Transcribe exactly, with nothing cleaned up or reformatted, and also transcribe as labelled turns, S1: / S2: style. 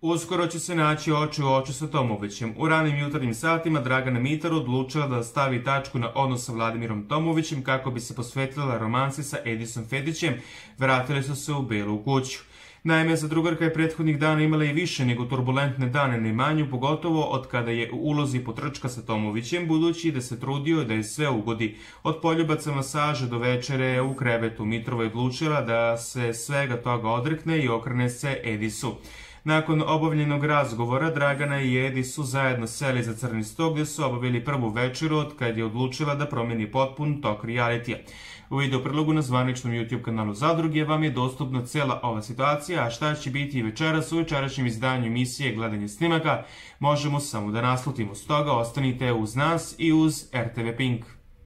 S1: Uskoro će se naći oči u oči sa Tomovićem. U ranim jutarnjim satima Dragana Mitar odlučila da stavi tačku na odnos sa Vladimirom Tomovićem kako bi se posvetila romansi sa Edisom Fedićem. Vratili su se u Belu kuću. Naime, zadrugarka je prethodnih dana imala i više nego turbulentne dane na imanju, pogotovo od kada je u ulozi potrčka sa Tomovićem, budući da se trudio da je sve ugodi. Od poljubaca, masaže do večere u krevetu, Mitrova je odlučila da se svega toga odrekne i okrene se Edisu. Nakon obavljenog razgovora, Dragana i Edis su zajedno seli za crni sto gdje su obavili prvu večeru od kad je odlučila da promeni potpun tok realitija. U video prilogu na zvaničnom YouTube kanalu Zadruge vam je dostupna cela ova situacija, a šta će biti i večeras u večerašnjem izdanju emisije Gledanje snimaka možemo samo da naslutimo. Stoga ostanite uz nas i uz R T V Pink.